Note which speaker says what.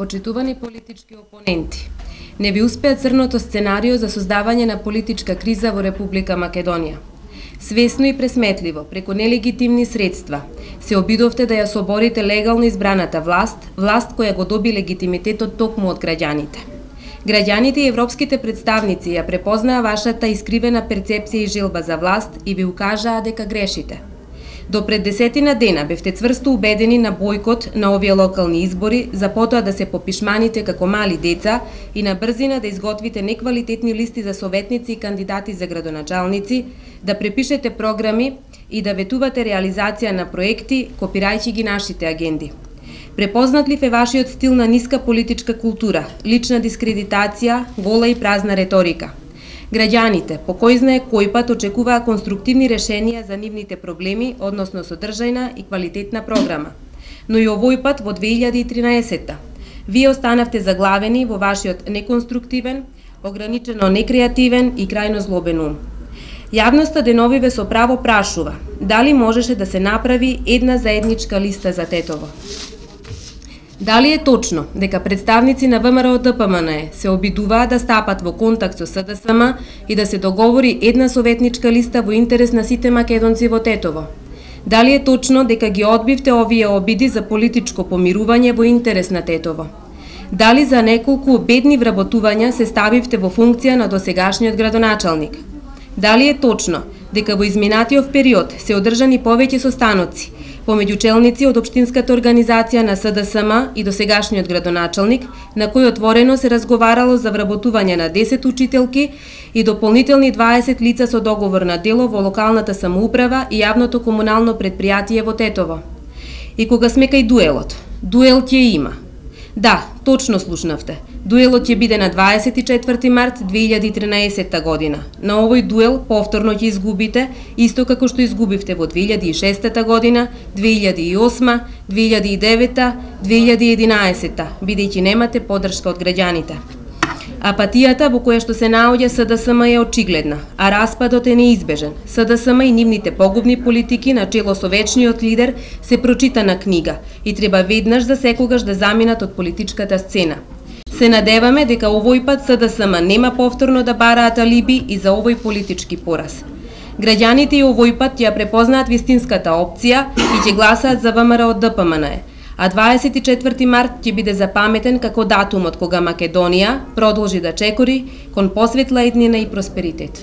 Speaker 1: Почитувани политички опоненти, не ви успеа црното сценарио за создавање на политичка криза во Република Македонија. Свесно и пресметливо, преку нелегитимни средства, се обидовте да ја соборите легално избраната власт која го доби легитимитетот токму од граѓаните. Граѓаните и европските представници ја препознаа вашата искривена перцепција и желба за власт и ви укажаа дека грешите. До пред 10 дена бевте цврсто убедени на бојкот на овие локални избори, за потоа да се попишманите како мали деца и на брзина да изготвите неквалитетни листи за советници и кандидати за градоначалници, да препишете програми и да ветувате реализација на проекти, копирајќи ги нашите агенди. Препознатлив е вашиот стил на ниска политичка култура, лична дискредитација, гола и празна реторика. Граѓаните, по кој знае кој пат, очекуваа конструктивни решенија за нивните проблеми, односно содржајна и квалитетна програма. Но и овој пат во 2013-та, вие останавте заглавени во вашиот неконструктивен, ограничено некреативен и крајно злобен ум. Јавноста деновиве со право прашува, дали можеше да се направи една заедничка листа за Тетово? Дали е точно дека представници на ВМРО-ДПМНЕ се обидуваа да стапат во контакт со СДСМ и да се договори една советничка листа во интерес на сите македонци во Тетово? Дали е точно дека ги одбивте овие обиди за политичко помирување во интерес на Тетово? Дали за неколку бедни вработувања се ставивте во функција на досегашниот градоначалник? Дали е точно дека во изминатиот период се одржани повеќе состаноци помеѓу челници од општинската организација на СДСМ и досегашниот градоначалник, на кој отворено се разговарало за вработување на 10 учителки и дополнителни 20 лица со договор на дело во локалната самоуправа и јавното комунално предпријатие во Тетово? И кога сме кај дуелот, дуел ќе има. Да, точно слушнавте. Дуелот ќе биде на 24 март 2013 година. На овој дуел повторно ќе изгубите, исто како што изгубивте во 2006 година, 2008, 2009, 2011, бидејќи немате поддршка од граѓаните. Апатијата во која што се наоѓа СДСМ е очигледна, а распадот е неизбежен. СДСМ и нивните погубни политики на чело со вечниот лидер се прочитана книга и треба веднаш за секогаш да заминат од политичката сцена. Се надеваме дека овој пат СДСМ нема повторно да бараат алиби и за овој политички пораз. Граѓаните и овој пат ја препознаат вистинската опција и ќе гласаат за ВМРО-ДПМНЕ. А 24 март ќе биде запаметен како датумот кога Македонија продолжи да чекори кон посветла иднина и просперитет.